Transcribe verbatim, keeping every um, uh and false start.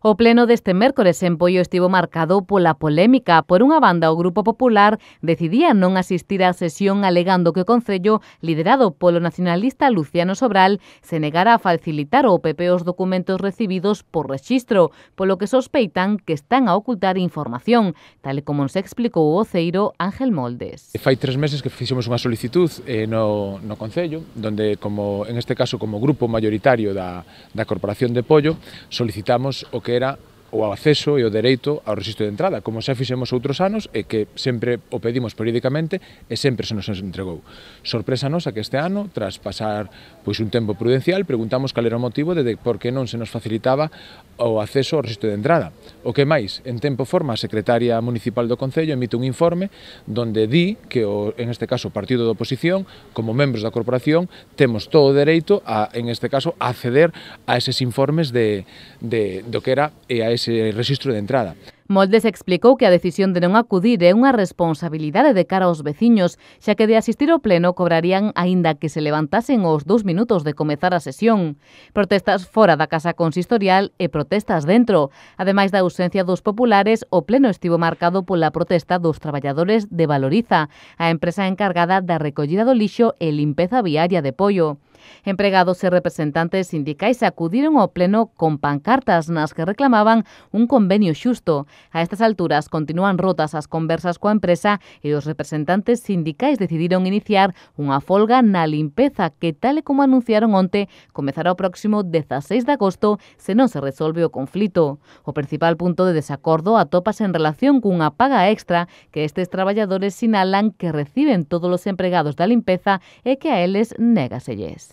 O pleno deste mércores en Poio estivo marcado pola polémica. Por unha banda, o Grupo Popular decidía non asistir á sesión alegando que o Concello, liderado polo nacionalista Luciano Sobral, se negara a facilitar ao P P os documentos recibidos por rexistro, polo que sospeitan que están a ocultar información, tal e como nos explicou o voceiro Ángel Moldes. Fai tres meses que fixemos unha solicitud eh, no, no Concello, donde, como en este caso, como grupo mayoritario da, da Corporación de Poio, solicitamos o que era o acceso e o dereito ao rexistro de entrada, como xa fixemos outros anos e que sempre o pedimos periódicamente e sempre se nos entregou. Sorpresa nosa que este ano, tras pasar pois un tempo prudencial, preguntamos cal era o motivo de por que non se nos facilitaba o acceso ao rexistro de entrada. O que máis, en tempo forma, a secretaria municipal do Concello emite un informe donde di que, o, en este caso, o partido de oposición, como membros da corporación, temos todo o dereito a, en este caso, a acceder a eses informes de, de, do que era e a ese ese rexistro de entrada. Moldes explicou que a decisión de non acudir é unha responsabilidade de cara aos veciños, xa que de asistir ao pleno cobrarían aínda que se levantasen os dous minutos de comezar a sesión. Protestas fora da casa consistorial e protestas dentro. Ademais da ausencia dos populares, o pleno estivo marcado pola protesta dos traballadores de Valoriza, a empresa encargada da recollida do lixo e limpeza viaria de Poio. Empregados e representantes sindicais acudiron ao pleno con pancartas nas que reclamaban un convenio xusto. A estas alturas continúan rotas as conversas coa empresa e os representantes sindicais decidiron iniciar unha folga na limpeza que, tal e como anunciaron onte, comezará o próximo dezaseis de agosto se non se resolve o conflito. O principal punto de desacordo atópase en relación cunha paga extra que estes traballadores sinalan que reciben todos os empregados da limpeza e que a eles négaselles.